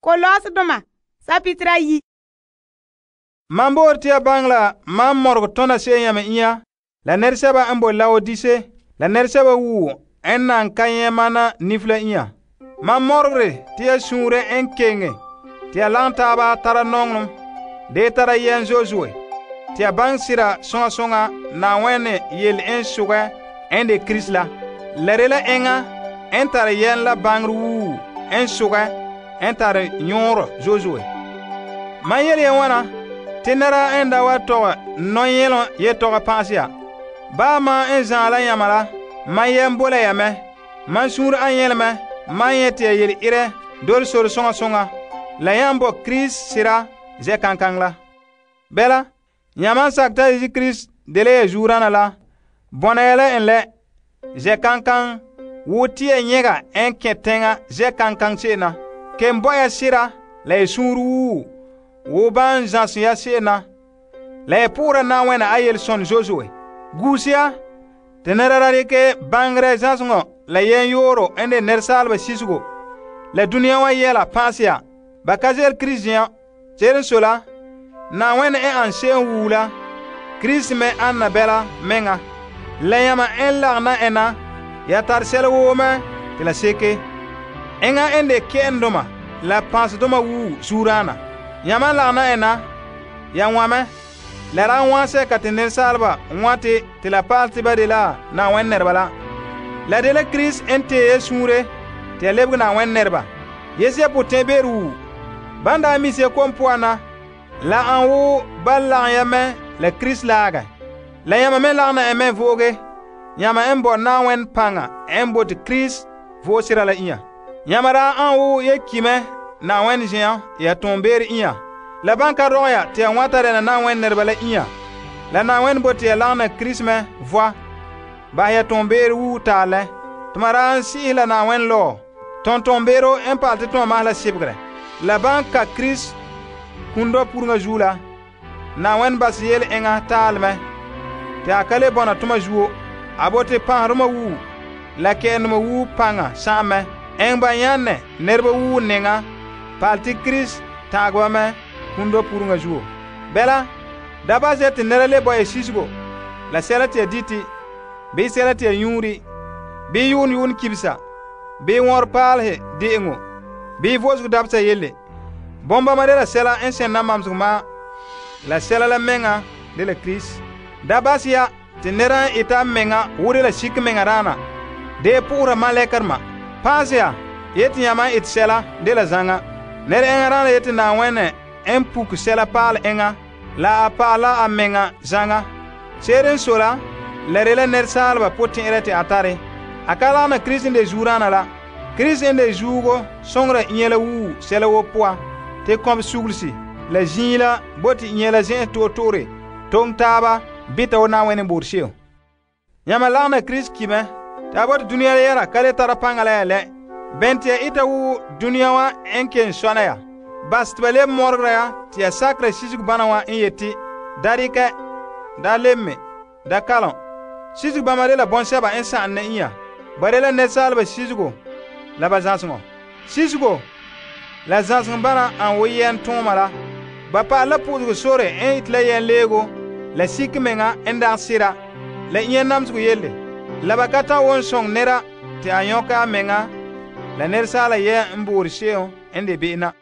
Kolosdoma sapitira yi. Man boor te ya baŋɛ la man morege tona se'em yame inya la nɛresɛba n boe Laodise la nɛresɛba wuo n nan ka nyɛ mana nif la inya. Man morogere te ya suunre n keŋe te ya lagom taaba tara nɔŋɔlom de tara yɛn zo'e zo'e te ya baŋɛ sera soŋa soŋa Na'ayenɛ yele n sogɛ n de Krista la. La de la enŋa n tare yɛn la baŋere wuu n sogɛ n tare nyɔɔrɔ zo'e zo'e. Man yele ya wana te nɛra n da wa tɔgɛ nɔyɛlom yetɔgɔ pa'asɛ ya. Baa man n zaan la yama la, man yɛn bo la ya mɛ. Man suunre an nyɛlɛ mɛ, man nyɛ te ya yele irɛ dole sore soŋa soŋa la yan bo Krista sera zɛ kankaŋ la. Bɛla, yamam sakɛ ta Yesu Krista dela ya zuurana la, bɔna ya la en lɛ zɛ kankaŋ wo te ya nyɛga n kɛn teŋa zɛ kankaŋ se'em na. Ken bo ya sera la ya suunre wuu wo ban zãsɛ ya se'em na, la ya po'ora Na'ayenɛ a yelesɔnɛ zo'e zo'e. Guuse ya te nɛra da dekɛ baŋerɛ zãseŋɔ la yɛn yooro n de nɛresaaleba sisego la duniya wa yɛla pa'asɛ ya. Ba ka ze'ele Krista zen'an. Se'ere n sɔe la, Na'ayenɛ n an se'em wuu la, Krista me ana bɛla meŋa. La yama n lagena en na, ya tare sɛla woo mɛ te la seke. Enŋa n de kɛ'ɛndoma la pãasedoma wuu zuurana. Yamam lagena en na, ya wã mɛ. La daa wã sɛka te nɛresaaleba wãte te la pa'alɛ te ba de la Na'ayenɛ nɛreba la. La de la Krista n tee ya suunre te ya lebege Na'ayenɛ nɛreba. Yese ya potɛn'be'ero wuu. Ban daa mi ya kom poan na, la an wo ban lagem ya mɛ la Krista laagɛ. La yama me lagena en mɛ vooge. Yama n bo Na'ayenɛ paŋa n bote Krista vo'e sera la inya. Yama daa an wo ya ki mɛ Na'ayenɛ zen'an ya toonbeere inya. La ban ka rɔgɛ ya te ya wãta dɛna Na'ayenɛ nɛreba la inya. La Na'ayenɛ bote ya lagena Krista mɛ voa. Bahɛ ya toonbeere wuu taalɛ. Tuma daa n si'ihɛ la Na'ayenɛ lɔɔ. Toonbeero n pa'alɛ te tɔma mahɛ la sebegere. La ban ka Krista kũndɔ puruŋa zuo la, Na'ayenɛ basɛ yele enŋa taalɛ mɛ te a ka le bɔna toma zuo. A bote pãserdoma wuu la kɛ'ɛndoma wuu paŋa sa'am mɛ. Eŋɛ ba nyãnɛ nɛreba wuu nɛŋa pa'alɛ te Krista ta'agɛ ba mɛ kũndɔ puruŋa zuo. Bɛla, da basɛ te nɛra le bo ya sisego la sɛla te ya dite, bii sɛla te ya nyuuri, bii yuun kibisa, bii wɔnrɛ paalehe de'eŋo, bii vo'osego dabesa yelle. Bɔmbama de la sɛla n sẽn mamsegɔ ma, la sɛla la meŋa de la Krista. Da basɛ ya te nɛra n eta meŋa wo de la sike meŋa daana, de pʋgera malɛkadema. Paasɛ ya yeti yãma ete sɛla de la zaŋa. Nɛra eŋa daana yeti Na'ayenɛ n puke sɛla paale eŋa la a paala a meŋa zaŋa. Se'ere n sɔe la de la nɛresaaleba potɛn'ɛrɛ te a tare. A ka lagena Krista n de zuurana la. Krista n de zuugo sõngera inya la wuu sɛla woo poa, te kɔbe sugulsi la zĩig la bote inya la zen'en to'e to'ore toŋe taaba bita wo Na'ayenɛ boore se'em. Yãma lagena Krista ki mɛ te a bote dũniyã yɛra ka le tara paŋa la ya lɛ. Bɛn te ya ita wo dũniyã wã n ken sɔna ya. Bas te ba leb morgera ya te ya sakera sisego bãna wã n yeti, da dɩkɛ, da leb me, da kalom. Sisego bãmba de la bõn-sɛba n sã'an na inya. Ba de la nɛresaaleba sisego la ba zãseŋɔ. Sisego la zãseŋ bãna an wo yɛn tõoma la. Ba pa'alɛ la pʋʋsego sore n yete la yɛn leego la sik meŋa n dagɛ sera la inya namsego yelle. La ba ka ta won sõng nɛra te a yõka a meŋa la nɛresaala yɛn n boore se'em n de be'em na.